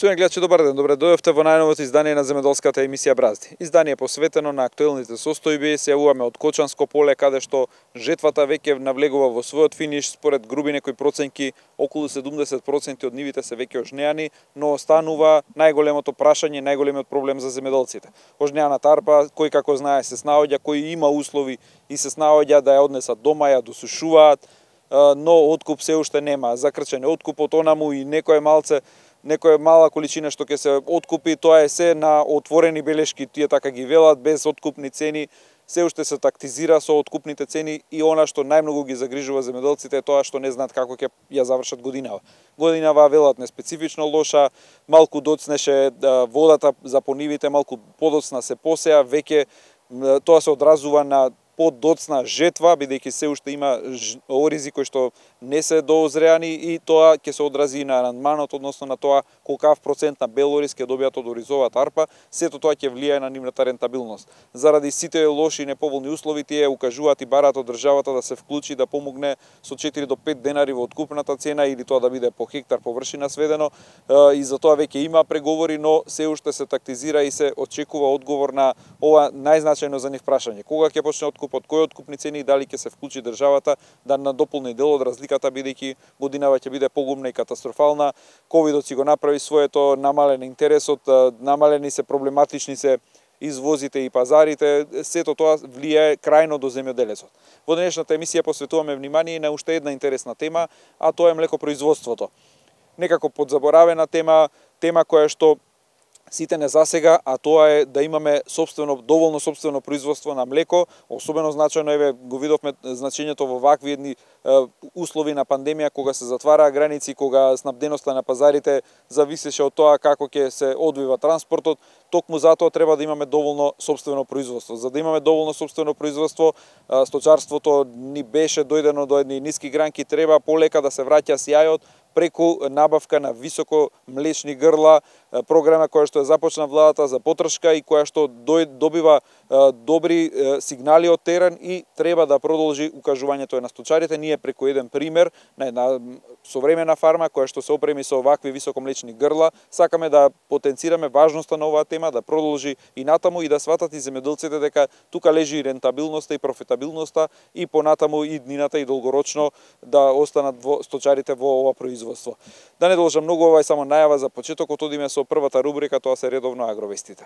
Поштовани гледачи, добар ден. Добре дојдовте во најновото издание на земјоделската емисија Бразди. Издание посветено на актуелните состојби. Се јавуваме од Кочанско поле, каде што жетвата веќе навлегува во својот финиш. Според груби некои проценки, околу 70% од нивите се веќе ожнеани, но останува најголемото прашање, најголемиот проблем за земјоделците. Ожнеаната арпа, кој како знае се снаоѓа, кој има услови и се снаоѓа да ја однесат дома, ја досушуваат, но откуп се уште нема. Закрчен е откупот, онаму и некоја мала количина што ќе се откупи, тоа е се на отворени белешки, тие така ги велат, без откупни цени, се уште се тактизира со откупните цени и она што најмногу ги загрижува земјоделците е тоа што не знаат како ќе ја завршат годинава. Годинава велат неспецифично лоша, малку доцнеше водата за понивите, малку подоцна се посеа, веќе тоа се одразува на подоцна жетва, бидејќи се уште има оризи кои што не се доозреани и тоа ќе се одрази на рандманот, односно на тоа колкав процент на бел ориз ќе добијат од оризовата арпа, сето тоа ќе влијае на нивната рентабилност. Заради сите лоши и неповолни услови, тие укажуваат и бараат од државата да се вклучи, да помогне со 4 до 5 денари во откупната цена или тоа да биде по хектар површина сведено, и за тоа веќе има преговори, но се уште се тактизира и се очекува одговор на ова најзначајно за нив прашање. Кога ќе почне од кои откупни цени и дали ќе се вклучи државата да надополни дел од разликата, бидејќи годинава ќе биде погубна и катастрофална. Ковидот си го направи своето, намален интересот, намалени се проблематични се извозите и пазарите, сето тоа влијае крајно до земјоделецот. Во денешната емисија посветуваме внимание на уште една интересна тема, а тоа е млекопроизводството. Некако подзаборавена тема која што сите не засега, а тоа е да имаме доволно собствено производство на млеко. Особено значајно, еве, го видовме значењето во вакви едни услови на пандемија, кога се затвараа граници, кога снабденоста на пазарите зависеше од тоа како ќе се одвива транспортот. Токму затоа треба да имаме доволно собствено производство. За да имаме доволно собствено производство, сточарството ни беше дојдено до едни ниски гранки, треба полека да се враќа сјајот преку набавка на високо млечни грла, програма која што е започна владата за потршка и која што добива добри сигнали од терен и треба да продолжи укажувањето на сточарите. Ние преку еден пример на една современа фарма која што се опреми со овакви високомлечни грла, сакаме да потенцираме важноста на оваа тема, да продолжи и натаму и да сватат и земјоделците дека тука лежи и рентабилноста и профитабилноста и понатаму и днината и долгорочно да останат сточарите во ова производство. Да не должам многу, ова е само најава за почетокот, одиме со првата рубрика, тоа се редовно агровестите.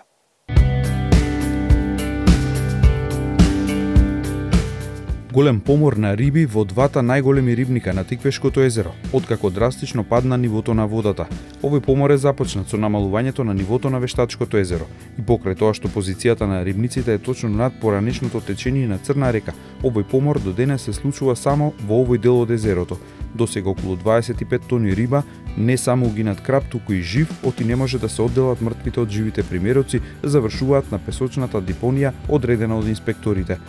Голем помор на риби во двата најголеми рибника на Тиквешкото езеро, откако драстично падна нивото на водата. Овој помор е започнат со намалувањето на нивото на Вештачкото езеро и покрај тоа што позицијата на рибниците е точно над поранешното течение на Црна река. Овој помор до денес се случува само во овој дел од езерото. Досега околу 25 тони риба, не само угинат краб, туку и жив, оти не може да се одделат мртвите од живите примероци, завршуваат на песочната депонија одредена од инспекторите.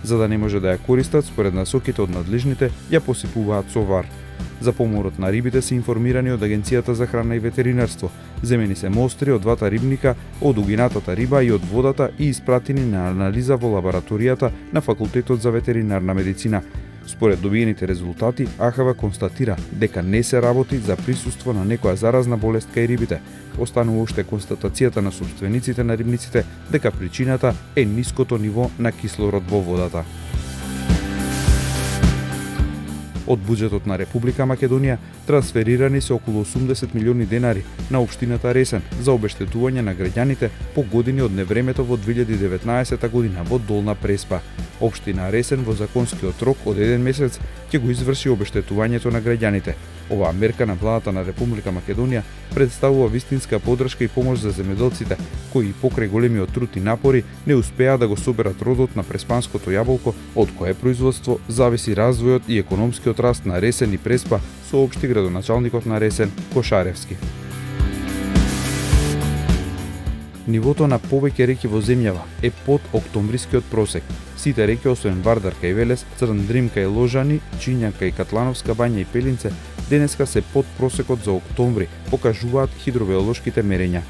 За да не може да ја користат, според насоките од надлежните, ја посипуваат со вар. За поморот на рибите се информирани од Агенцијата за храна и ветеринарство. Земени се мостри од двата рибника, од угинатата риба и од водата и испратени на анализа во лабораторијата на Факултетот за ветеринарна медицина. Според добиените резултати, АХВ констатира дека не се работи за присуство на некоја заразна болест кај рибите. Останува уште констатацијата на собствениците на рибниците дека причината е ниското ниво на кислород во водата. Од буџетот на Република Македонија трансферирани се околу 80 милиони денари на општината Ресен за обештетување на граѓаните по години од невремето во 2019 година во Долна Преспа. Општина Ресен во законскиот рок од 1 месец ќе го изврши обештетувањето на граѓаните. Оваа мерка на владата на Република Македонија представува вистинска поддршка и помош за земјоделците, кои покрај големиот труд и напори не успеа да го соберат родот на преспанското јаболко, од кое производство зависи развојот и економскиот раст на Ресен и Преспа, соопшти градоначалникот на Ресен Кошаревски. Нивото на повеќе реки во земјава е под октомврискиот просек. Сите реки освен Вардар кај Велес, Црндрим кај Ложани, Чинјан кај Катлановска бања и Пелинце, денеска се под просекот за октомври, покажуваат хидробиолошките мерења.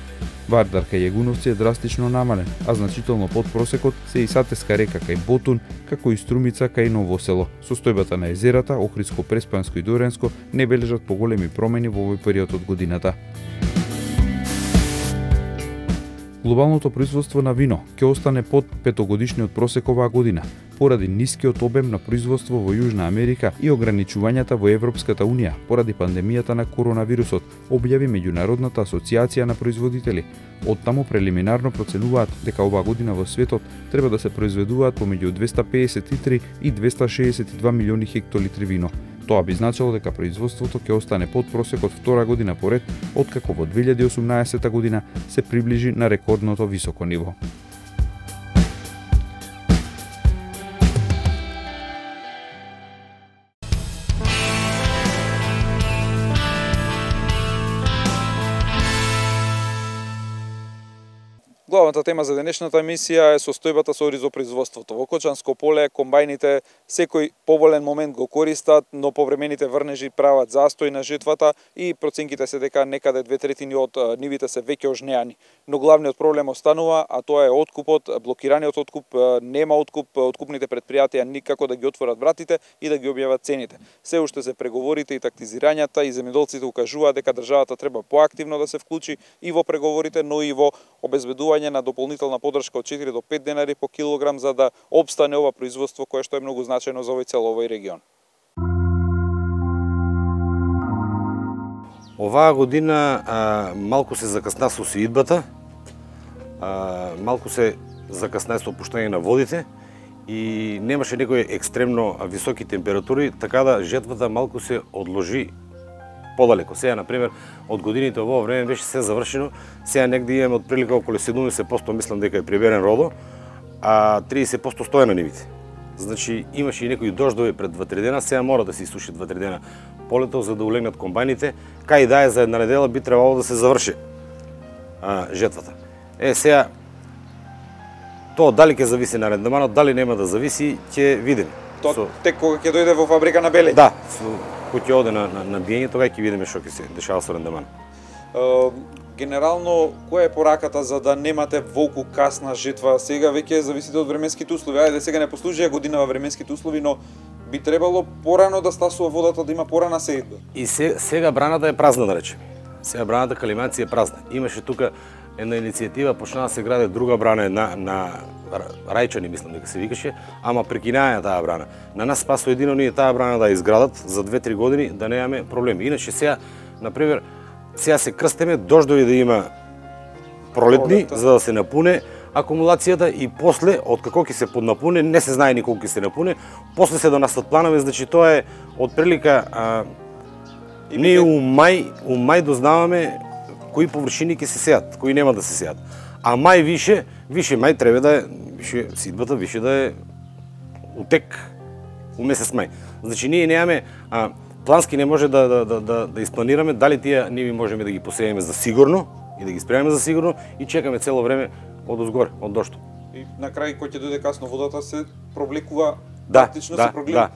Вардар кај Јегуновци е драстично намален, а значително под просекот се и Сатеска река кај Ботун, како и Струмица кај Ново село. Состојбата на езерата, Охридско, Преспанско и Доренско не бележат поголеми промени во овој период од годината. Глобалното производство на вино ќе остане под петогодишниот просек оваа година, поради нискиот обем на производство во Јужна Америка и ограничувањата во Европската Унија поради пандемијата на коронавирусот, објави Меѓународната асоциација на производители. Оттаму прелиминарно проценуваат дека оваа година во светот треба да се произведуваат помеѓу 253 и 262 милиони хектолитри вино. Тоа би значило дека производството ќе остане под просекот втора година поред, откако во 2018 година се приближи на рекордното високо ниво. Главната тема за денешната емисија е состојбата со оризопроизводството. Во Кочанско поле комбајните секој поволен момент го користат, но повремените врнежи прават застој на жетвата и проценките се дека некаде 2/3 од нивите се веќе ожнеани. Но главниот проблем останува, а тоа е откупот, блокираниот откуп, нема откуп, откупните претпријатија никако да ги отворат вратите и да ги објават цените. Се уште се преговорите и тактизирањата и земјоделците укажуваат дека државата треба поактивно да се вклучи и во преговорите, но и во обезбедување на дополнителна поддршка од 4 до 5 денари по килограм за да обстане ова производство кое што е многу значајно за овој регион. Оваа година малку се закасна со свидбата, малку се закасна со опуштање на водите и немаше некои екстремно високи температури, така да жетвата малку се одложи подалеко. Сега, например, од годините во ова време беше се завршено, сега негде имаме од прилика околу 70%, мислам дека е приберен родо, а 30% стои на нивите. Значи, имаше и некои дождови пред 2-3 дена, сега мора да се исуши 2-3 дена полето, за да улегнат комбајните. Кај да е за една недела би требало да се заврши жетвата. Сега, тоа дали ќе зависи на рендеманот, дали нема да зависи, ќе видиме. Тоа тек кога ќе дојде во фабрика на Белеј? Да, кога ќе оде на биење, тога ќе видиме што ќе се дешава со рендеман. Генерално, која е пораката за да немате волку касна жетва? Сега веќе зависите од временските услови. Ајде, сега не послужија годинава временските услови, но би требало порано да стасува водата, да има порана сејдба. И сега браната е празна, да речеме. Сега браната Калиманци е празна. Имаше тука една иницијатива, почна да се граде друга брана на Рајчани, мислам дека се викаше, ама прекинаја таа брана. На нас спасо едино ние таа брана да изградат за 2-3 години, да немаме проблеми. Иначе сега, например, сега се крстеме дождови да има пролетни, за да се напуне акумулацијата и после, откако ќе се поднапуне, не се знае ни колку ќе се напуне, после се донасат планови, значи тоа е од прилика ние у мај дознаваме кои површини ќе се сеат, кои нема да се сеат. А мај више мај треба да е, сидбата више да е утек у месец мај. Значи ние немаме плански не може да испланираме дали тие ниви можеме да ги посееме за сигурно и да ги спремаме за сигурно и чекаме цело време од озгоре, од дошто. И на крај кој ќе дојде касно водата се провлекува,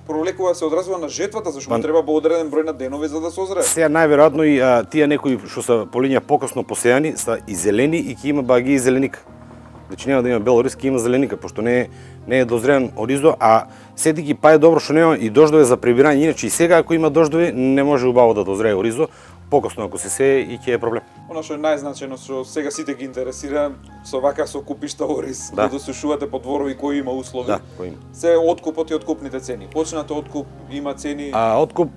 провлекува се одразува на жетвата, зашто треба одреден број на денови за да се озрее. Сега најверојатно и тие некои што се полиња покасно посејани са и зелени и ќе има баги и зеленика. Значи нема да има бел ориз, ќе има зеленика, пошто не е дозрен оризо, а седики па е добро што нема и дождови за прибирање, иначе и сега ако има дождови не може убаво да дозрее оризо, покасно ако се сее и ќе е проблем. Она што е најзначајно што сега сите ги интересира со вака со купишта ориз, да досушувате по дворови кои има услови. Да, кои има. Се откупот и откупните цени. Почнате откуп, има цени.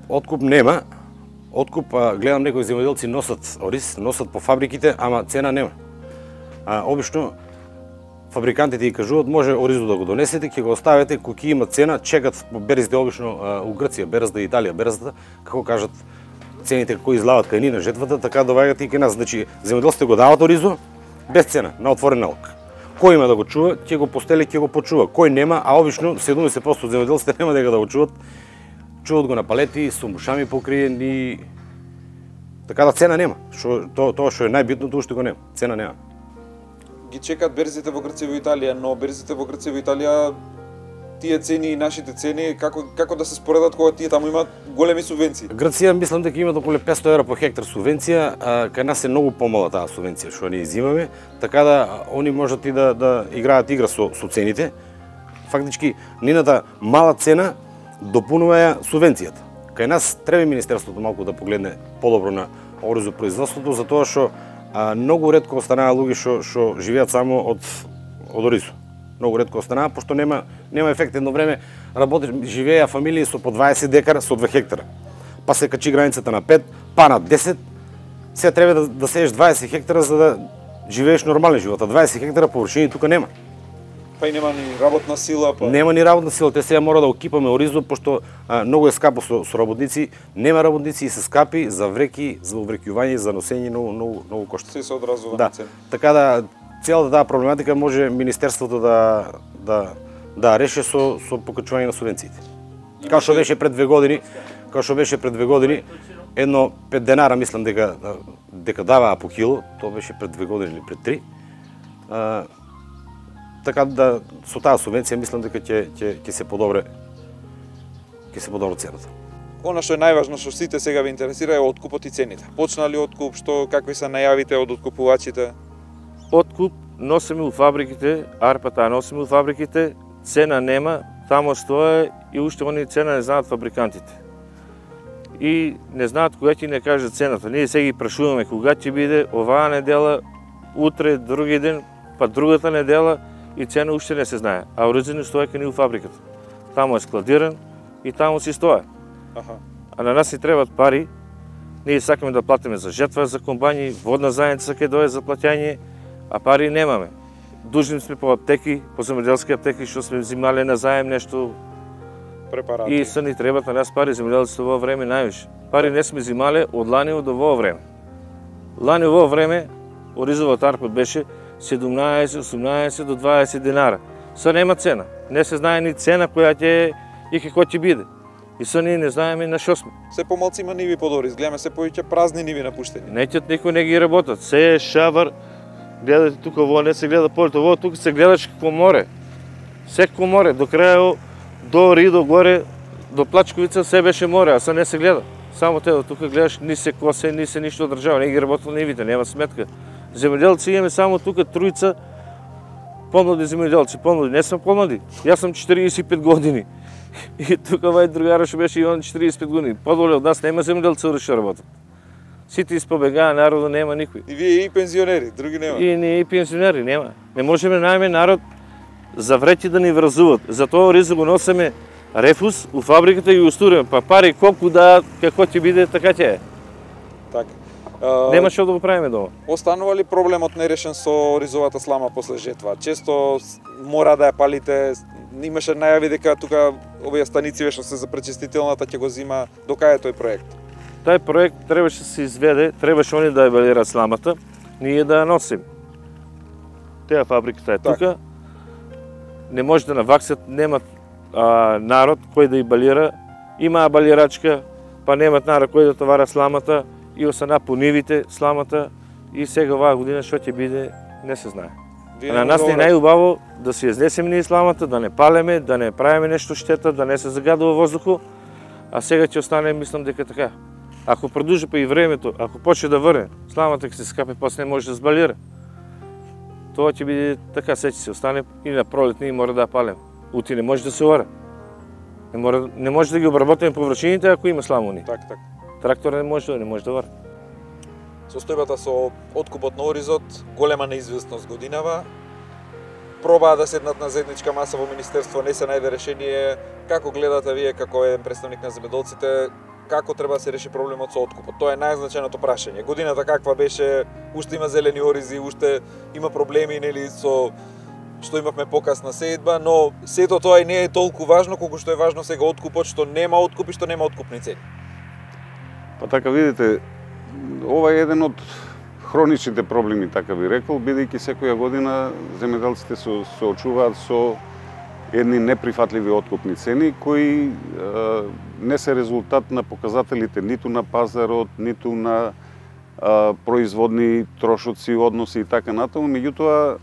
Откуп нема. Откуп гледам некои земјоделци носат ориз, носат по фабриките, ама цена нема. Обично фабрикантите ги кажуваат може оризо да го донесете, ќе го оставите, кога има цена, чекат по берзите обично у Грција, берзата Италија, берзата, како кажат цените кои излават кај ни на жетвата, така доваѓаат и кај нас. Значи земјоделците го дават оризо без цена, на отворен налог. Кој има да го чува, ќе го постели, ќе го почува. Кој нема, а обично 70% од земјоделците нема дека да го чуват. Чуват го на палети, со мушами покриени. Така да цена нема. Тоа што е најбитното уште го нема. Цена нема. Ги чекат берзите во Грција и во Италија, но берзите во Грција и во Италија тие цени и нашите цени како да се споредат кога тие таму имаат големи субвенции? Грција мислам дека имаат околу 500 евра по хектар субвенција, кај нас е многу помала таа субвенција што ние изимаме, така да они можат и да играат игра со цените. Фактички нината мала цена допунува ја субвенцијата. Кај нас треба министерството малку да погледне подобро на оризопроизводството, затоа што многу ретко останаа луѓе што живеат само од оризо. Многу ретко останаа, пошто нема ефект. Едно време живееа фамилии со по 20 декара, со 2 хектара. Па се качи границата на 5, па на 10. Сега треба да сееш 20 хектара за да живееш нормален живот. А 20 хектара површини тука нема. Па и нема ни работна сила, па. Нема ни работна сила, те сега мора да окипаме оризо, пошто многу е скапо со работници, нема работници и се скапи за вреки, за уврекјување, за носење многу кошта. Се одразува на цена. Така да целата таа проблематика може министерството да реши со покачување на субвенциите. Као што беше пред 2 години, едно 5 денара мислам дека даваа по кило, тоа беше пред 2 години или пред 3. Така да со таа субвенција мислам дека ќе се подобре цената. Она што е најважно, што сите сега ви интересира е откупот и цените. Почна ли откуп, какви се најавите од откупувачите? Откуп носиме у фабриките, арпата носиме у фабриките, цена нема, тамо стоја и уште они цена не знаат фабрикантите. И не знаат кога ќе не кажат цената. Ние сега ги прашуваме кога ќе биде оваа недела, утре, други ден, па другата недела и цена уште не се знае. А оризинот стоја кај у фабриката. Тамо е складиран и тамо си стоја. А на нас ни требат пари. Ние сакаме да платиме за жетва, за комбањи, водна заедница кај дое за плаќање, а пари немаме. Дужни сме по аптеки, по земјоделски аптеки, што сме взимале на заем нешто. Препарати. И се ни требат на нас пари, земјоделците во време највише. Пари не сме взимале од лани до во време. Лани во време оризовата арпа беше 17, 18 до 20 динара. Са нема цена. Не се знае ни цена која ќе и како ќе биде. И са ние не знаеме на што сме. Се помалци има ниви под ориз, гледаме се повеќе празни ниви напуштени. Неќат никој не ги работат. Се е шавар. Гледате тука, во не се гледа полето, во тука се гледаш како море. Секако море, до крај до Ридо горе, до Плачковица се беше море, а са не се гледа. Само те тука гледаш, ни се косе, ни се ништо одржава, не ги работат нивите, нема сметка. Земјоделци имаме само тука тројца помлади земјоделци, помлади, не сум помлади. Јас сум 45 години. И тука вај другара што беше и он 45 години. Подоле од нас нема земјоделци што работат. Сите испобегаа, народот нема никој. И вие и пензионери, други нема. И ние и пензионери нема. Не можеме најме народ за вреќи да ни вразуват. Затоа оризо го носиме рефус у фабриката и устуриме. Па пари колку да, како ќе биде, така ќе е. Така. Нема што да го правиме дома. Останува ли проблемот нерешен со оризовата слама после жетва? Често мора да ја палите. Имаше најави дека тука овие станици што се за пречистителната ќе го зима. До кај е тој проект? Тај проект требаше да се изведе, требаше они да ја балират сламата, ние да ја носим. Теа фабриката е тука. Не може да наваксат, немат народ кој да ја балира. Имаа балирачка, па немат народ кој да товара сламата и осана по нивите сламата и сега оваа година што ќе биде не се знае. На нас не е најубаво да се изнесеме ние сламата, да не палеме, да не правиме нешто штета, да не се загадува воздухот, а сега ќе остане, мислам дека така. Ако продолжи па и времето, ако почне да врне, сламата ќе се скапе, после не може да збалира. Тоа ќе биде така, се ќе се остане и на пролет ние мора да палем. Ути не може да се ора. Не може да ги обработиме површините ако има сламуни. Така. Трактор не може да врне. Состојбата со откупот на оризот, голема неизвестност годинава. Пробаа да седнат на заедничка маса во министерство, не се најде решение. Како гледате вие како еден представник на земјоделците, како треба да се реши проблемот со откупот? Тоа е најзначајното прашање. Годината каква беше? Уште има зелени оризи, уште има проблеми, нели, со што имавме покасна сејдба, но сето тоа и не е толку важно колку што е важно сега откупот, што нема откуп и што нема откупни цени. Па така видите, ова е еден од хроничните проблеми, така би рекол, бидејќи секоја година земјоделците се соочуваат со едни неприфатливи откупни цени кои не се резултат на показателите ниту на пазарот, ниту на производни трошоци, односи и така натаму, меѓутоа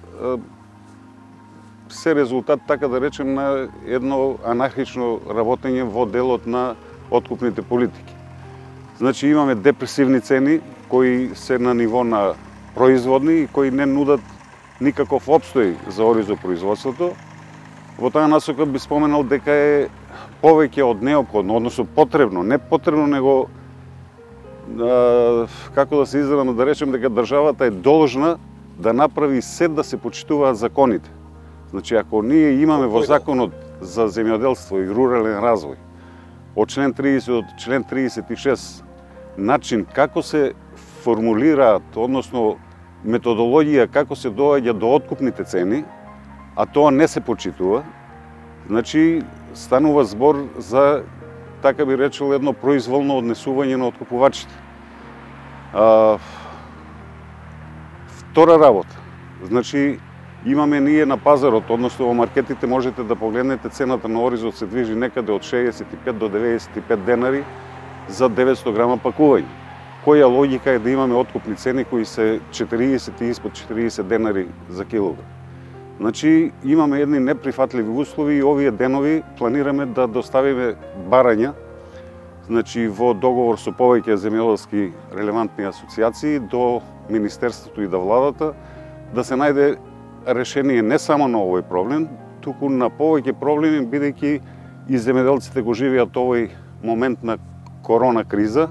се резултат, така да речем, на едно анархично работење во делот на откупните политики. Значи имаме депресивни цени кои се на ниво на производни и кои не нудат никаков опстој за оризопроизводството. Во таа насока би споменал дека е повеќе од неопходно, односно потребно, не потребно, него како да се изразам, да речем дека државата е должна да направи се да се почитуваат законите. Значи, ако ние имаме во законот за земјоделство и рурален развој, од член 30 до член 36, начин како се формулираат, односно методологија како се доаѓа до откупните цени, а тоа не се почитува, значи станува збор за, така би речел, едно произволно однесување на откупувачите. Втора работа, значи имаме ние на пазарот, односно во маркетите можете да погледнете цената на оризот се движи некаде од 65 до 95 денари за 900 грама пакување. Која логика е да имаме откупни цени кои се 40 и испод 40 денари за килограм? Значи, имаме едни неприфатливи услови и овие денови планираме да доставиме барања, значи во договор со повеќе земјоделски релевантни асоциации до Министерството и до владата, да се најде решение не само на овој проблем, туку на повеќе проблеми, бидејќи и земјоделците го живеат овој момент на корона криза.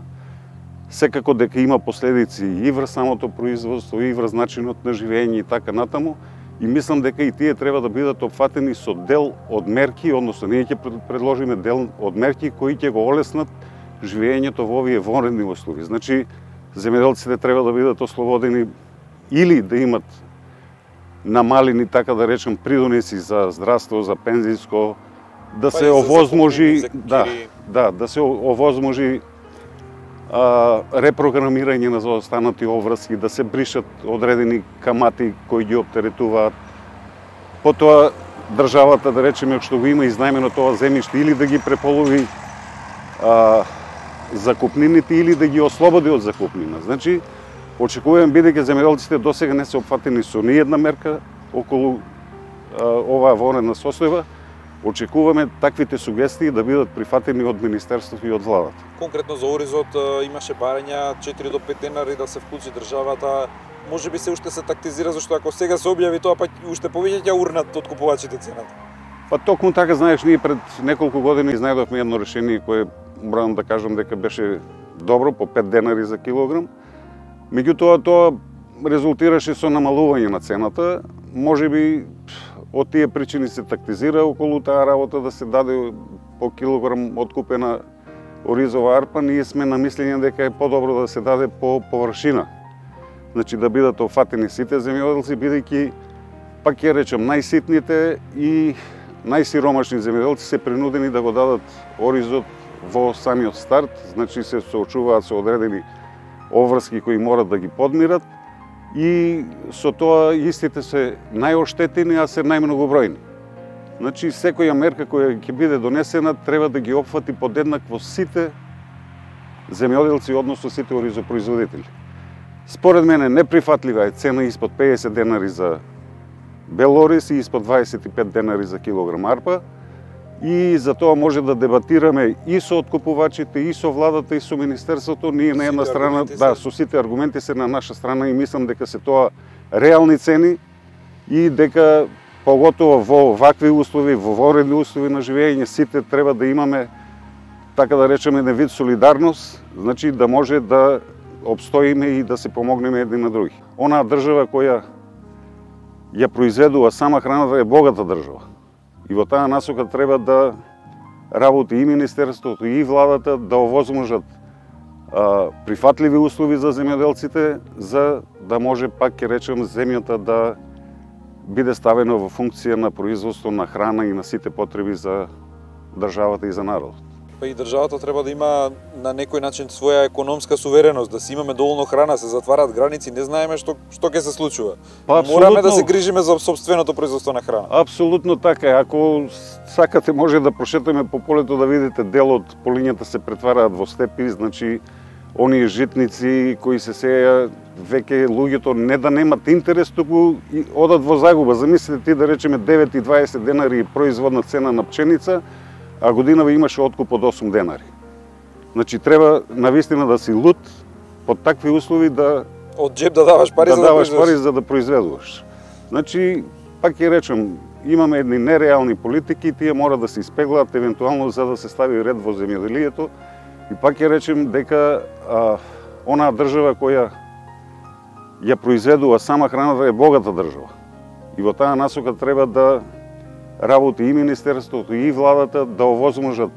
Секако дека има последици и врз самото производство, и врз начинот на живење и така натаму, и мислам дека и тие треба да бидат опфатени со дел од мерки, односно ние ќе предложиме дел од мерки кои ќе го олеснат живењето во овие вонредни услови. Значи, земјоделците треба да бидат ослободени или да имат намалени, така да речем, придонеси за здравство, за пензиско, да се овозможи, да се овозможи репрограмирање на заостанати обврски, да се бришат одредени камати кои ги оптеретуваат. Потоа државата, да речеме, што го има изнајмено тоа земјиште, или да ги преполови закупнините, или да ги ослободи од закупнина. Значи, очекувам, бидејќи земјоделците досега не се опфатени со ниедна мерка околу оваа вонредна состојба, очекуваме таквите сугестии да бидат прифатени од Министерството и од владата. Конкретно за оризот имаше барања 4 до 5 денари да се вклучи државата. Може би се уште се тактизира, зашто ако сега се објави тоа, па уште повеќе ќе урнат откупувачите цената. Па токму така, знаеш, ние пред неколку години изнајдовме едно решение кое морам да кажам дека беше добро, по 5 денари за килограм. Меѓутоа тоа резултираше со намалување на цената. Може би од тие причини се тактизира околу таа работа да се даде по килограм откупена оризова арпа. Ние сме на мислење дека е подобро да се даде по површина. Значи да бидат офатени сите земјоделци, бидејќи, пак ќе речем, најситните и најсиромашни земјоделци се принудени да го дадат оризот во самиот старт, значи се соочуваат со одредени обврски кои морат да ги подмират, и со тоа истите се најоштетени, а се најмногобројни. Значи, секоја мерка која ќе биде донесена треба да ги опфати подеднакво сите земјоделци, односно сите оризопроизводители. Според мене неприфатлива е цена испод 50 денари за бел ориз и испод 25 денари за килограм арпа, и за тоа може да дебатираме и со откупувачите, и со владата, и со Министерството. Ние на една страна, со сите аргументи се на наша страна, и мислам дека се тоа реални цени и дека поготово во вакви услови, во вонредни услови на живење, сите треба да имаме, така да речеме, еден вид солидарност, значи да може да обстоиме и да се помогнеме едни на други. Онаа држава која ја произведува сама храната е богата држава. И во таа насока треба да работи и Министерството, и владата да овозможат прифатливи услови за земјоделците, за да може, пак ќе речем, земјата да биде ставена во функција на производство на храна и на сите потреби за државата и за народот. Па и државата треба да има на некој начин своја економска сувереност, да си имаме доволно храна, се затвараат граници, не знаеме што ќе се случува. Па, мораме да се грижиме за сопственото производство на храна. Апсолутно така е. Ако сакате, може да прошетаме по полето да видите дел од полињата се претвараат во степи, значи оние житници кои се сеја, веќе луѓето не да немат интерес, туку одат во загуба. Замислете ти, да речеме, 9 и 20 денари производна цена на пченица, а годинава имаше откуп од 8 денари. Значи треба навистина да си луд под такви услови да од джеб да даваш пари, за да произведуваш. Значи, пак ќе речем, имаме едни нереални политики, тие мора да се испеглаат евентуално за да се стави ред во земјоделието, и пак ќе речем дека онаа држава која ја произведува сама храната е богата држава. И во таа насока треба да работи и Министерството, и владата да овозможат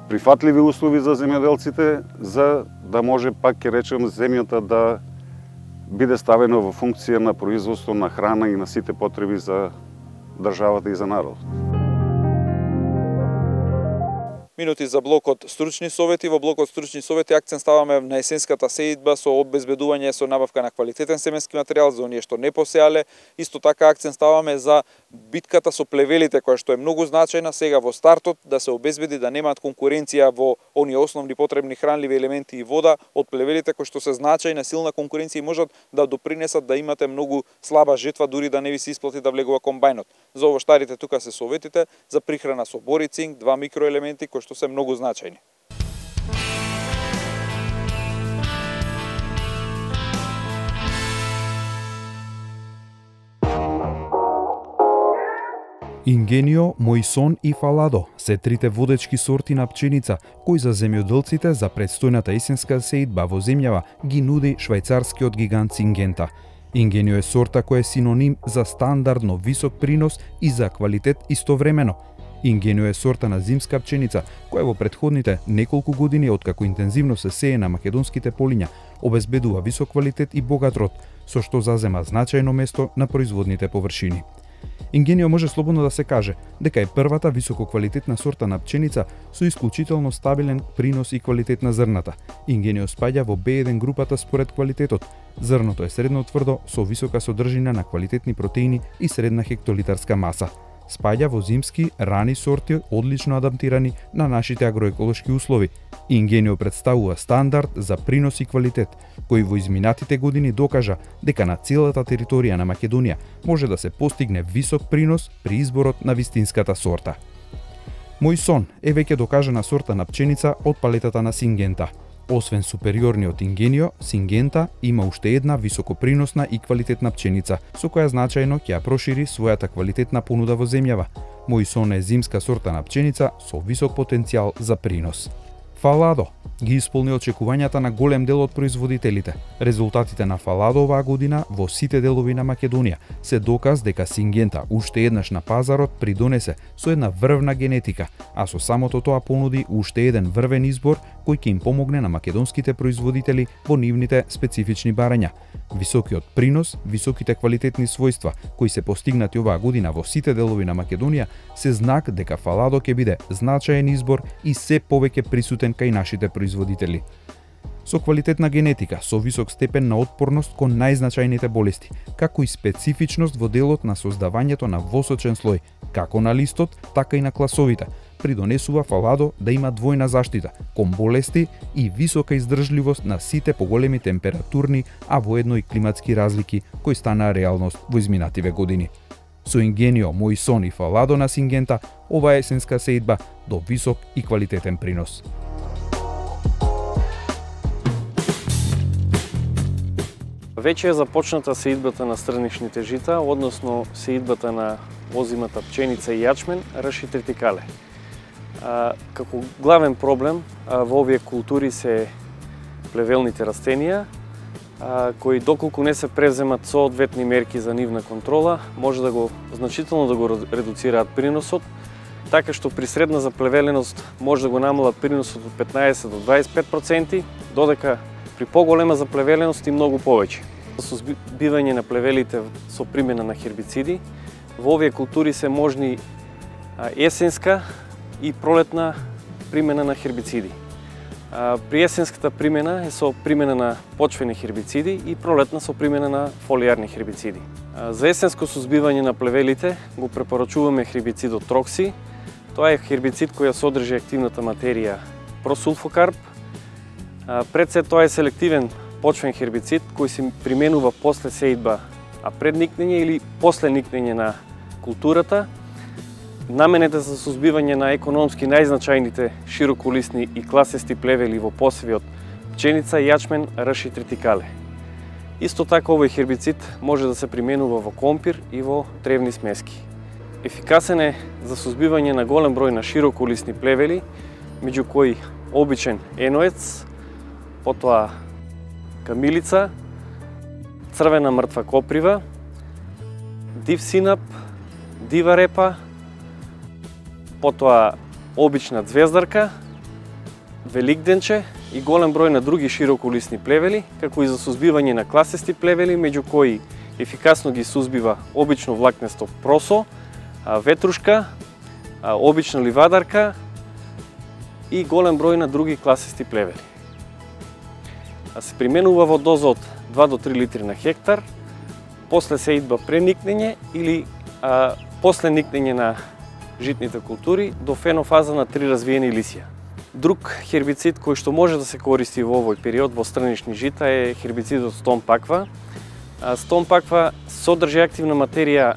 прифатливи услови за земјоделците, за да може, пак ќе речем, земјата да биде ставена во функција на производство на храна и на сите потреби за државата и за народот. Минути за блокот стручни совети. Во блокот стручни совети акцент ставаме на есенската сеидба со обезбедување со набавка на квалитетен семенски материјал за оние што не посеале. Исто така акцент ставаме за битката со плевелите, која што е многу значајна сега во стартот, да се обезбеди да немаат конкуренција во оние основни потребни хранливи елементи и вода од плевелите кои што се значајна силна конкуренција и можат да допринесат да имате многу слаба жетва, дури да не ви се исплати да влегува комбајнот. За овоштарите тука се советите за прихрана со бор и цинк, два микроелементи кои што се многу значајни. Ингенио, Мојсон и Фаладо се трите водечки сорти на пченица кои за земјоделците за предстојната есенска сеидба во земјава ги нуди швајцарскиот гигант Сингента. Ингенио е сорта која е синоним за стандардно висок принос и за квалитет истовремено. Ингенио е сорта на зимска пченица која во претходните неколку години откако интензивно се сее на македонските полиња обезбедува висок квалитет и богат род, со што зазема значајно место на производните површини. Ингенио може слободно да се каже дека е првата висококвалитетна сорта на пченица со исклучително стабилен принос и квалитет на зрната. Ингенио спаѓа во B1 групата според квалитетот. Зрното е средно тврдо со висока содржина на квалитетни протеини и средна хектолитарска маса. Спаѓа во зимски рани сорти одлично адаптирани на нашите агроеколошки услови. Ингенио представува стандард за принос и квалитет, кој во изминатите години докажа дека на целата територија на Македонија може да се постигне висок принос при изборот на вистинската сорта. Мојсон е веќе докажана сорта на пченица од палетата на Сингента. Освен супериорниот Ингенио, Сингента има уште една високоприносна и квалитетна пченица, со која значајно ќе ја прошири својата квалитетна понуда во земјава. Мојсон е зимска сорта на пченица со висок потенцијал за принос. Фаладо ги исполни очекувањата на голем дел од производителите. Резултатите на Фаладо оваа година во сите делови на Македонија се доказ дека Сингента уште еднаш на пазарот придонесе со една врвна генетика, а со самото тоа понуди уште еден врвен избор кој ќе им помогне на македонските производители во нивните специфични барања. Високиот принос, високите квалитетни својства кои се постигнати оваа година во сите делови на Македонија се знак дека Фаладо ќе биде значаен избор и се повеќе присутен кај нашите производители. Со квалитетна генетика, со висок степен на отпорност кон најзначајните болести, како и специфичност во делот на создавањето на восочен слој, како на листот, така и на класовите, придонесува Фаладо да има двојна заштита кон болести и висока издржливост на сите поголеми температурни, а воедно и климатски разлики кои станаа реалност во изминативе години. Со Ингенио, Мојсон и Фаладо на Сингента, ова есенска сеидба до висок и квалитетен принос. Веќе е започната сеидбата на стрнишните жита, односно сеидбата на озимата пченица и јачмен, раш и тритикале. Како главен проблем во овие култури се плевелните растенија, кои доколку не се преземат соодветни мерки за нивна контрола, може да го значително да го редуцираат приносот, така што при средна заплевеленост може да го намалат приносот од 15 до 25%, додека при поголема заплевеленост и многу повеќе. Со збивање на плевелите со примена на хербициди, во овие култури се можни есенска и пролетна примена на хербициди. При есенската примена е со примена на почвени хербициди и пролетна со примена на фолијарни хербициди. За есенско сузбивање на плевелите го препорачуваме хербицидот Трокси. Тоа е хербицид кој содржи активната материја просулфокарп. Пред се тоа е селективен почвен хербицид кој се применува после сеидба, а пред никнење или после никнење на културата. Наменет е за сузбивање на економски најзначајните широколисни и класести плевели во посевиот пченица, јачмен, рж и тритикале. Исто така овој хербицид може да се применува во компир и во тревни смески. Ефикасен е за сузбивање на голем број на широколисни плевели, меѓу кои обичен еноец, потоа камилица, црвена мртва коприва, див синап, дива репа, потоа обична звездарка, великденче и голем број на други широколисни плевели, како и за сузбивање на класести плевели, меѓу кои ефикасно ги сузбива обично влакнесто просо, ветрушка, обична ливадарка и голем број на други класести плевели. Се применува во доза од 2 до 3 литри на хектар, после сеидба преникнење или после никнење на житните култури до фенофаза на 3 развиени лисија. Друг хербицид кој што може да се користи во овој период во странични жита е хербицидот стомпаква. Стомпаква содржи активна материја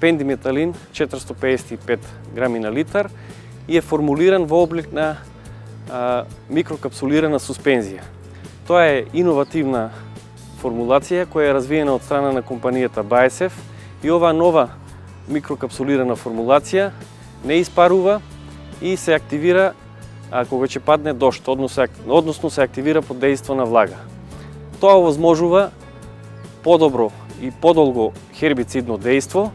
пендиметалин 455 грами на литар и е формулиран во облик на микрокапсулирана суспензија. Тоа е иновативна формулација која е развиена од страна на компанијата BASF и оваа нова микрокапсулирана формулација не испарува и се активира кога ќе падне дожд, односно се активира под дејство на влага. Тоа овозможува подобро и подолго хербицидно дејство,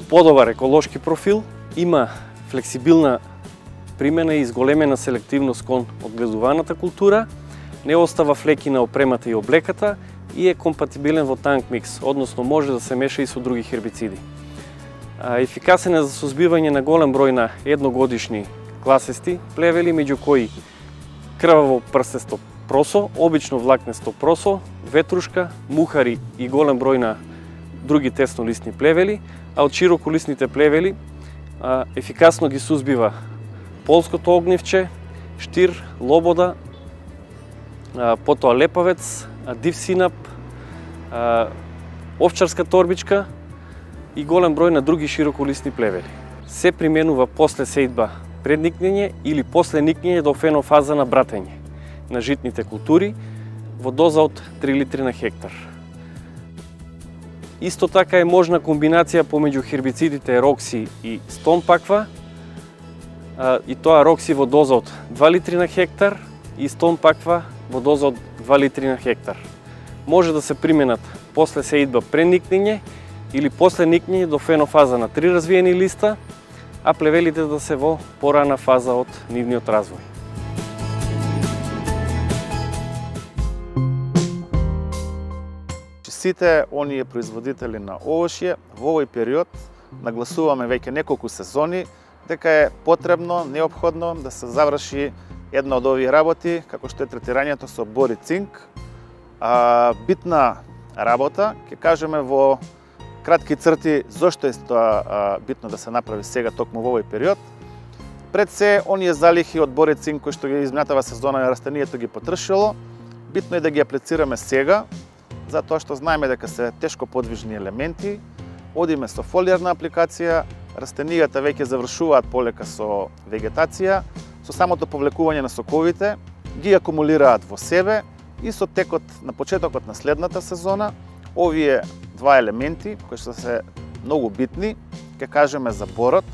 подобар еколошки профил, има флексибилна примена и изголемена селективност кон одгледуваната култура, не остава флеки на опремата и облеката и е компатибилен во танк микс, односно може да се меша и со други хербициди. Ефикасен е за сузбивање на голем број на едногодишни класести плевели, меѓу кои крваво прстесто просо, обично влакнесто просо, ветрушка, мухари и голем број на други теснолисни плевели, а од широколисните плевели ефикасно ги сузбива полското огнивче, штир, лобода, потоа лепавец, див синап, овчарска торбичка и голем број на други широколисни плевели. Се применува после сеидба пред никнење или после никнење до фенофаза на братење на житните култури во доза од 3 литри на хектар. Исто така е можна комбинација помеѓу хербицидите рокси и стомпаква, и тоа рокси во доза од 2 литри на хектар и стомпаква во доза од 2 литри на хектар. Може да се применат после сеидба пред никнење или после никнење до фенофаза на 3 развиени листа, а плевелите да се во порана фаза од нивниот развој. Сите оние производители на овошје во овој период нагласуваме веќе неколку сезони дека е потребно, неопходно да се заврши една од овие работи, како што е третирањето со бор и цинк. Битна работа, ќе кажеме во кратки црти зошто е тоа битно да се направи сега токму во овој период. Пред се, оние залихи од бор и цинк кои што ги изминатава сезона на растението ги потрошило, битно е да ги аплицираме сега, затоа што знаеме дека се тешко подвижни елементи, одиме со фолиарна апликација, растенијата веќе завршуваат полека со вегетација, со самото повлекување на соковите, ги акумулираат во себе и со текот на почетокот на следната сезона, овие два елементи, кои што се многу битни, ќе кажеме за борот,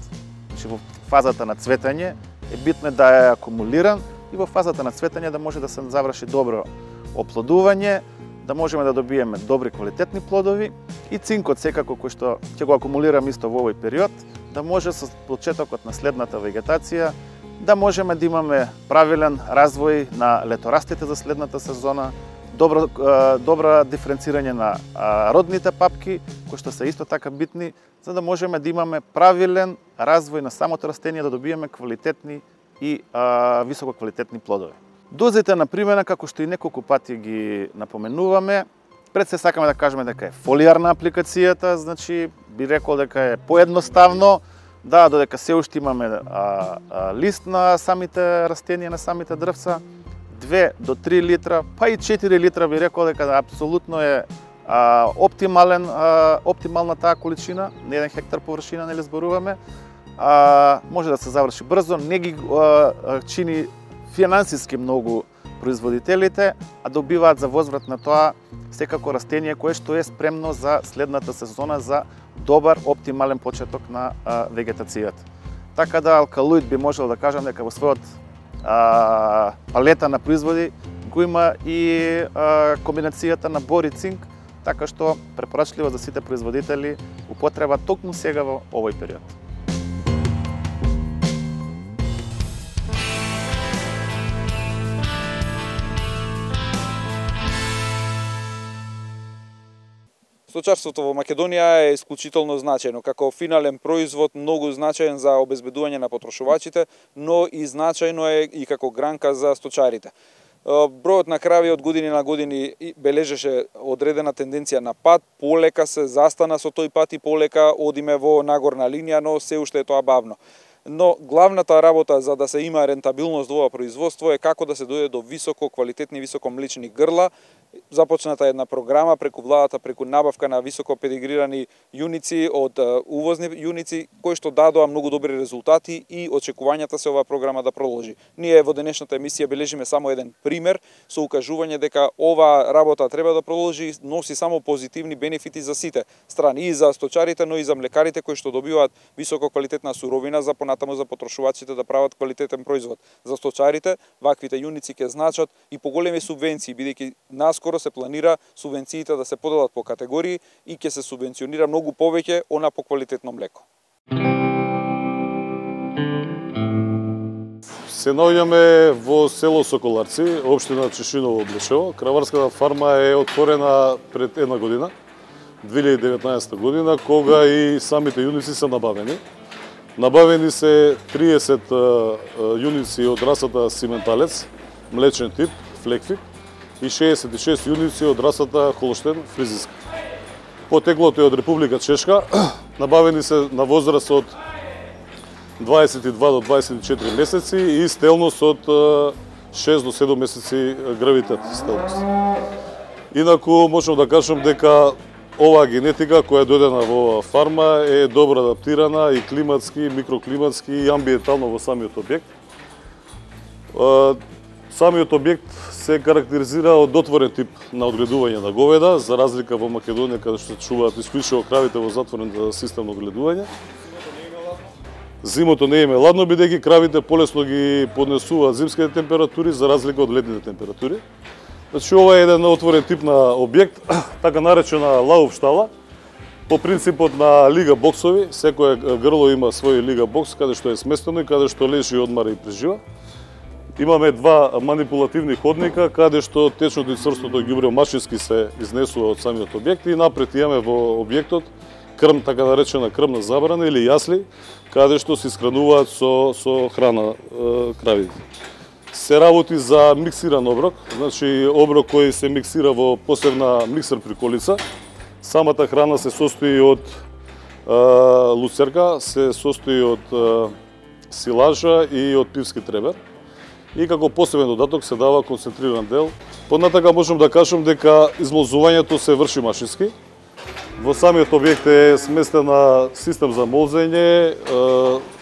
значи во фазата на цветење е битно да е акумулиран и во фазата на цветење да може да се заврши добро оплодување, да можеме да добиеме добри квалитетни плодови и цинкот секако кој што ќе го акумулираме исто во овој период, да може со почетокот на следната вегетација да можеме да имаме правилен развој на леторастите за следната сезона, добра диференцирање на родните папки, кои што се исто така битни, за да можеме да имаме правилен развој на самото растение, да добиеме квалитетни и висококвалитетни плодови. Дозите на примена, како што и неколку пати ги напоменуваме, пред се сакаме да кажеме дека е фолиарна апликацијата, значи би рекол дека е поедноставно, да, додека се уште имаме лист на самите растенија, на самите дрвца, 2 до 3 литра, па и 4 литра би рекол дека апсолутно е оптимална таа количина, на 1 хектар површина, нели зборуваме, може да се заврши брзо, не ги чини финансиски многу производителите, а добиваат за возврат на тоа секако растение кое што е спремно за следната сезона за добар, оптимален почеток на вегетацијата. Така да алкалоид би можел да кажам дека во својот палета на производи го има и комбинацијата на бор и цинк, така што препорачливо за сите производители употреба токму сега во овој период. Сточарството во Македонија е исклучително значајно, како финален производ многу значаен за обезбедување на потрошувачите, но и значајно е и како гранка за сточарите. Бројот на крави од години на години бележеше одредена тенденција на пад, полека се застана со тој пат и полека одиме во нагорна линија, но се уште е тоа бавно. Но главната работа за да се има рентабилност во ова производство е како да се дојде до високо квалитетни, високо млечни грла. Започната една програма преку владата, преку набавка на високо педигрирани јуници од увозни јуници, кои што дадоа многу добри резултати и очекувањата се оваа програма да продолжи. Ние во денешната емисија бележиме само еден пример со укажување дека оваа работа треба да продолжи, носи само позитивни бенефити за сите страни, и за сточарите, но и за млекарите кои што добиваат високо квалитетна суровина за понатаму за потрошувачите да прават квалитетен производ. За сточарите ваквите јуници ќе значат и поголеми субвенции, бидејќи наскоро се планира субвенциите да се поделат по категории и ќе се субвенционира многу повеќе она по квалитетно млеко. Се наоѓаме во село Соколарци, општина Чешиново, Блешево. Краварската фарма е отворена пред една година, 2019 година, кога и самите јуници се набавени. Набавени се 30 јуници од расата Сименталец, млечен тип, флекфик, и 66 јуници од расата Холштен, фризиска. Потеклото е од Република Чешка, набавени се на возраст од 22 до 24 месеци и стелност од 6 до 7 месеци гравитет стелност. Инаку можам да кажам дека оваа генетика која е дојдена во оваа фарма е добро адаптирана и климатски, и микроклиматски и амбиентално во самиот објект. Самиот објект се карактеризира од отворен тип на одгледување на говеда, за разлика во Македонија каде што чуваат исклучиво кравите во затворен систем на одгледување. Зимото не е ладно, бидејќи кравите полесно ги поднесуваат зимските температури за разлика од летните температури. Значи ова е еден отворен тип на објект, така наречена лауф штала, по принципот на лига боксови. Секое грло има свој лига бокс каде што е сместено и каде што лежи, одмара и прежива. Имаме два манипулативни ходника каде што течното и црстото ѓубре машински се изнесува од самиот објект и напред имаме во објектот крм, така наречена крмна забрана или јасли, каде што се искрануваат со храна кравите. Се работи за миксиран оброк, значи оброк кој се миксира во посебна миксер приколица. Самата храна се состои од луцерка, се состои од силажа и од пивски требер. И како посебен додаток се дава концентриран дел. Понатака можам да кажам дека измолзувањето се врши машински. Во самиот објект е сместена систем за молзење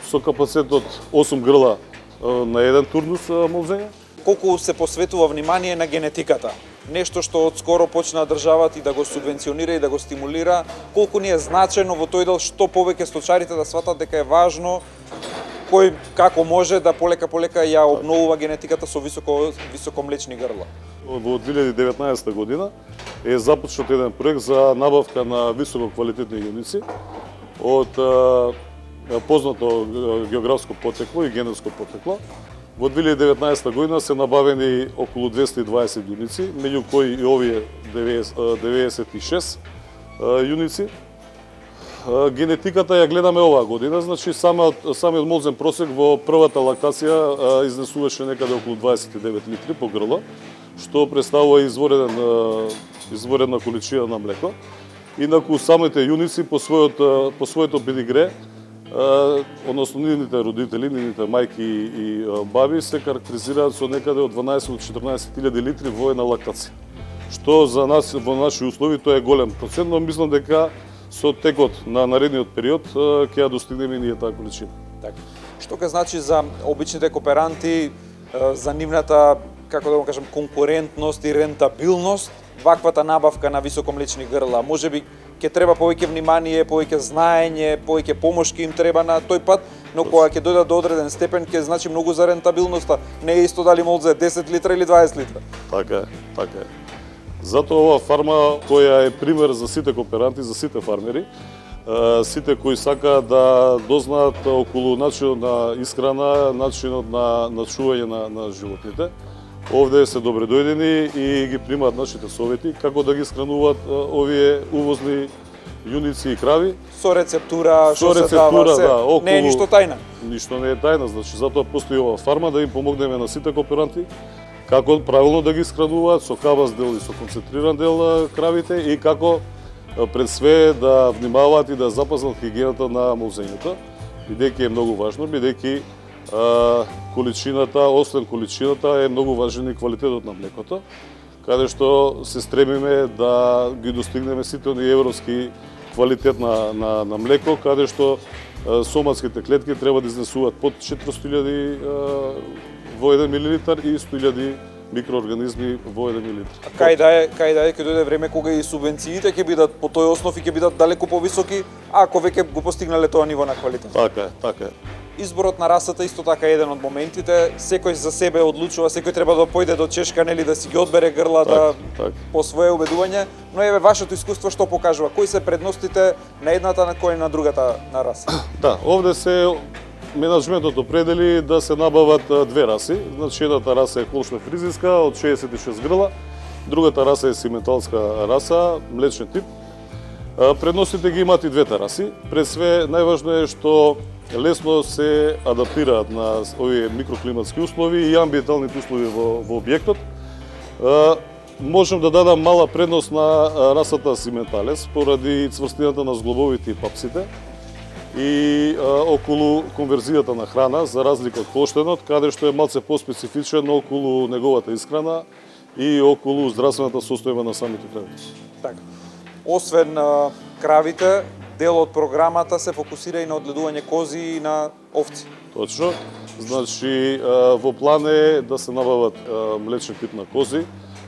со капацитет од 8 грла на еден турнус молзење. Колку се посветува внимание на генетиката? Нешто што одскоро почна државата и да го субвенционира и да го стимулира. Колку ни е значено во тој дел, што повеќе сточарите да сватат дека е важно, кој како може да полека ја обновува генетиката со високо млечни грла. Во 2019 година е започнат еден проект за набавка на високо квалитетни јуници од познато географско потекло и генетско потекло. Во 2019 година се набавени околу 220 јуници, меѓу кои и овие 96 јуници. Генетиката ја гледаме оваа година, значи самиот молзен просек во првата лактација изнесуваше некаде околу 29 литри по грло, што представува изворена количина на млеко. Инаку самите јуници по своето педигре, односно нивните родители, нивните мајки и баби се карактеризираат со некаде од 12 до 14.000 литри во една лактација. Што за нас во наши услови тоа е голем процент, но мислам дека со текот на наредниот период ќе ја достигнеме ние таа количина. Така. Што ке значи за обичните кооперанти, за нивната, како да го кажам, конкурентност и рентабилност, ваквата набавка на високомлечни грла? Можеби ќе треба повеќе внимание, повеќе знаење, повеќе помош ке им треба на тој пат, но кога ќе дојдат до одреден степен ќе значи многу за рентабилноста. Не е исто дали може 10 литра или 20 литра. Така е, така е. Затоа ова фарма која е пример за сите кооперанти, за сите фармери, сите кои сакаат да дознаат околу начинот на исхрана, начинот на чување на животните. Овде се добре дојдени и ги примаат нашите совети како да ги исхрануваат овие увозни јуници и крави. Со рецептура, што се дава се. Да, не е ништо тајна. Ништо не е тајна, значи затоа постои ова фарма да им помогнеме на сите кооперанти како правилно да ги исхрануваат со кабас дел и со концентриран дел кравите и како пред све да внимаваат и да запазат хигиената на молзењето, бидејќи е многу важно, бидејќи количината, освен количината, е многу важен и квалитетот на млекото, каде што се стремиме да ги достигнеме сите оние европски квалитет на млеко, каде што соматските клетки треба да изнесуваат под 400.000 во 1 милилитар и 100.000 микроорганизми во 1 милилитар. Кај да е ќе дојде време кога и субвенциите ќе бидат по тој основ и ќе бидат далеку повисоки, ако веќе го постигнале тоа ниво на квалитет. Така е, така е. Изборот на расата исто така е еден од моментите. Секој за себе одлучува, секој треба да појде до чешка, нели, да си ги одбере грлата по свое убедување, но еве вашето искуство што покажува? Кои се предностите на едната на кој на другата на раса? Да, овде се менаџментот определи да се набават две раси. Значи едната раса е холштайн фризиска од 66 грла, другата раса е сименталска раса, млечен тип. Предностите ги имаат и двете раси. Пред све најважно е што лесно се адаптираат на овие микроклиматски услови и амбиенталните услови во објектот. Можем да дадам мала предност на расата сименталес поради цврстината на зглобовите и папсите и околу конверзијата на храна, за разлика од холштајнот, каде што е малце поспецифичен околу неговата исхрана и околу здравствената состојба на самите крави. Така. Освен кравите, дел од програмата се фокусира и на одгледување кози и на овци. Точно. Значи, во план е да се набават млечен тип на кози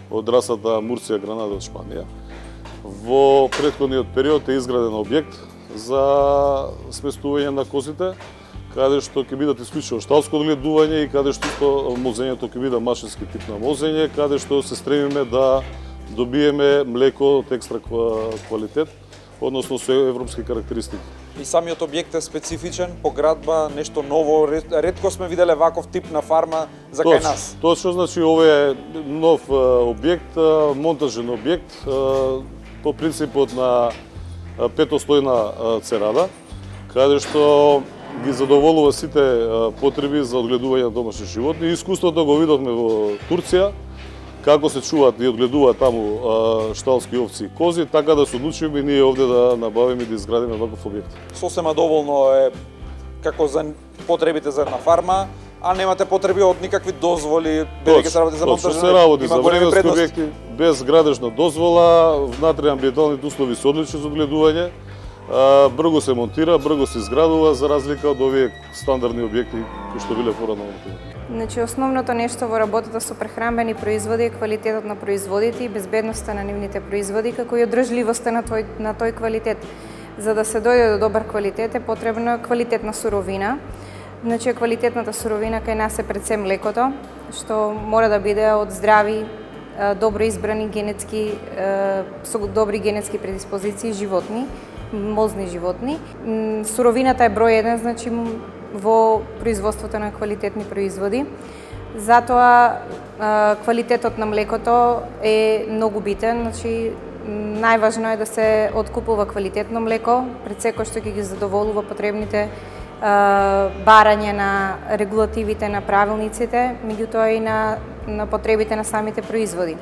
од расата Мурција Гранада од Шпанија. Во претходниот период е изграден објект за сместување на козите, каде што ќе бидат исклучиво шталско одгледување и каде што молзењето ќе биде машински тип на молзење, каде што се стремиме да добиеме млеко од екстра квалитет, односно со европски карактеристики. И самиот објект е специфичен, по градба, нешто ново, ретко сме виделе ваков тип на фарма за кај нас. Точно, значи ова е нов објект, монтажен објект, по принципот на петослојна церада, каде што ги задоволува сите потреби за одгледување на домашни животни. Искуството го видовме во Турција, како се чуваат и одгледуваат таму шталски овци и кози, така да се одлучиме и ние овде да набавиме и да изградиме ваков објект. Сосема доволно е како за потребите за една фарма, а немате потреби од никакви дозволи, бидејќи се работи за монтажни. Се работи за временски објекти, без градежна дозвола, внатре амбиенталните услови се одлични за одгледување, брзо се монтира, брзо се изградува, за разлика од овие стандардни објекти кои што биле порано. Значи, основното нешто во работата со прехранбени производи е квалитетот на производите и безбедноста на нивните производи, како и одржливоста на тој квалитет. За да се дојде до добар квалитет е потребна квалитетна суровина. Значи, квалитетната суровина кај нас е пред се млекото, што мора да биде од здрави, добро избрани генетски, со добри генетски предиспозиции животни, молзни животни. Суровината е број 1, значи во производството на квалитетни производи. Затоа квалитетот на млекото е многу битен, значи најважно е да се откупува квалитетно млеко, пред секој што ќе ги задоволува потребните барање на регулативите на правилниците, меѓутоа и на потребите на самите производи.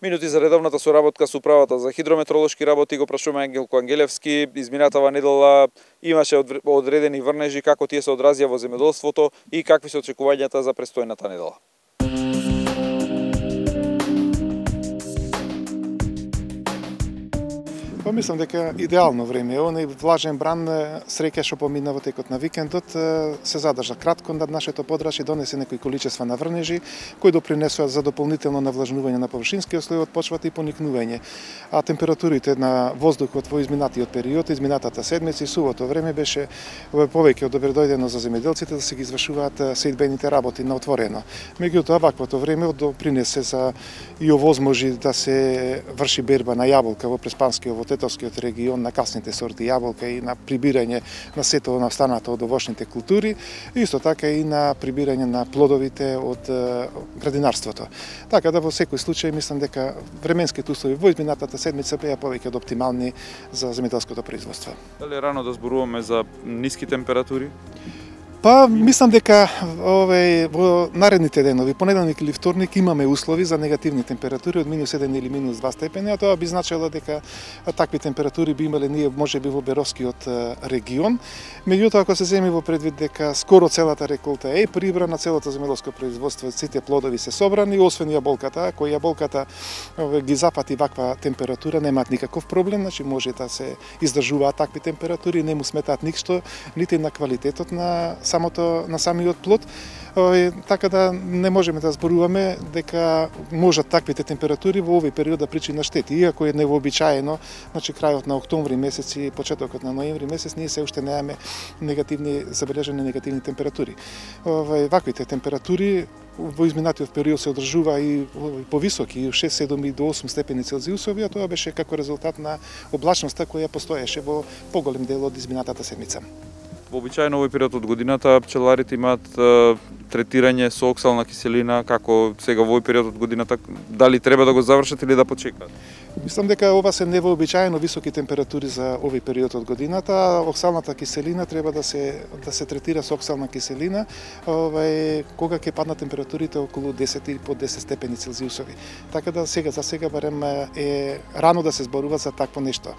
Минути за редовната соработка со управата за хидрометролошки работи го прашуваме Ангелко Ангелевски. Изминатава недела имаше одредени врнежи, како тие се одразија во земјоделството и какви се очекувањата за престојната недела. Па мислам дека идеално време. Оној влажен бран среќа што помина во текот на викендот се задржа кратко над нашето подрачје, донесе некои количества на врнежи кои допринесоа за дополнително навлажнување на површинскиот слој од почвата и поникнување. А температурите на воздухот во изминатиот период, изминатата седмица и сувото време беше повеќе од добредојдено за земјоделците да се ги извршуваат сеидбените работи на отворено. Меѓутоа ваквото време допринесе за и овозможи да се врши берба на јаболка во Преспанскиот, во Тетовскиот регион, на касните сорти јаболка и на прибирање на сето на останато од овошните култури, исто така и на прибирање на плодовите од градинарството. Така да во секој случај мислам дека временските услови во изминатата седмица беа повеќе од оптимални за земјоделското производство. Дали е рано да зборуваме за ниски температури? Па, мислам дека во наредните денови, понеделник или вторник, имаме услови за негативни температури од -1 или -2 степени, а тоа би значило дека такви температури би имале ние можеби во Беровскиот регион. Меѓутоа, ако се земи во предвид дека скоро целата реколта е прибрана, целото земјоделско производство, сите плодови се собрани, освен јаболката, кој јаболката ги запати ваква температура, немаат никаков проблем, значи може да се издржуваат такви температури, не му сметаат ништо, нити на квалитетот на самиот плод, така да не можеме да зборуваме дека можат таквите температури во овој период да причинат штети. Иако е невообичаено, значи крајот на октомври месец и почетокот на ноември месец, ние се уште немаме забележени негативни температури. Ваквите температури во изминатиот период се одржува и повисоки, 6, 7 и до 8 степени Целзиусови, а тоа беше како резултат на облачноста која постоеше во поголем дел од изминатата седмица. Вообичаено овој период од годината пчеларите имаат третирање со оксална киселина, како сега во овој период од годината, дали треба да го завршат или да почекаат? Мислам дека ова се невообичаено високи температури за овој период од годината. Оксалната киселина треба да се третира со оксална киселина, кога ќе паднат температурите околу 10 или под 10 степени Целзиусови. Така да за сега барем е рано да се зборува за такво нешто.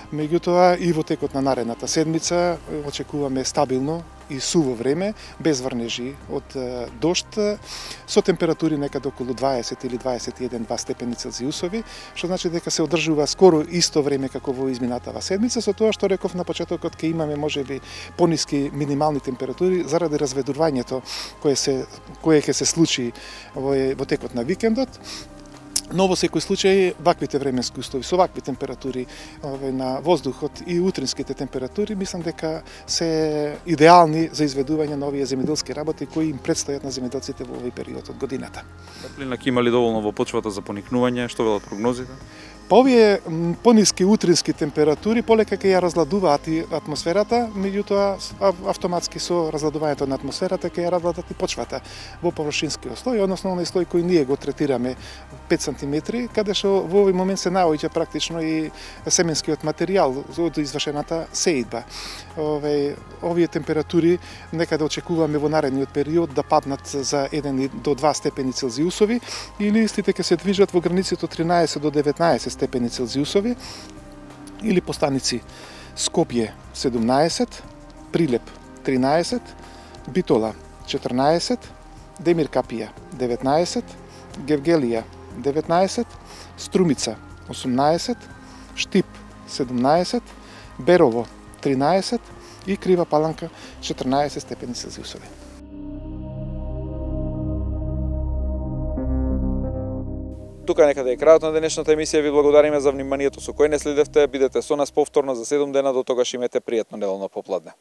Меѓутоа и во текот на наредната седмица очекуваме стабилно и суво време, без врнежи од дожд, со температури некаде околу 20 или 21-2 степени Целзиусови, што значи дека се одржува скоро исто време како во изминатава седмица, со тоа што реков на почетокот ќе имаме можеби пониски минимални температури заради разведувањето кое ќе се случи во текот на викендот. Но во секој случај, ваквите временски услови, со вакви температури на воздухот и утринските температури, мислам дека се идеални за изведување на овие земјоделски работи кои им предстојат на земјоделците во овој период од годината. Топлина ќе има ли доволно во почвата за поникнување? Што велат прогнозите? Па овие пониски утрински температури полека ќе ја разладуваат и атмосферата, меѓутоа автоматски со разладувањето на атмосферата ќе ја разладат и почвата во површинскиот слој, односно оној слој кој ние го третираме 5 сантиметри, каде што во овој момент се наоѓа практично и семенскиот материјал од извршената сеидба. Овие температури некаде очекуваме во наредниот период да паднат за 1 до 2 степени Целзиусови или истите ќе се движат во границите од 13 до 19 степени Целзиусови, или по станици Скопје 17, Прилеп 13, Битола 14, Демир Капија 19, Гевгелија 19, Струмица 18, Штип 17, Берово 13 и Крива Паланка 14 степени Целзиусови. Тука некаде е крајот на денешната емисија. Ви благодариме за вниманието со кој не следевте. Бидете со нас повторно за 7 дена. До тогаш имете пријатно неделно попладне.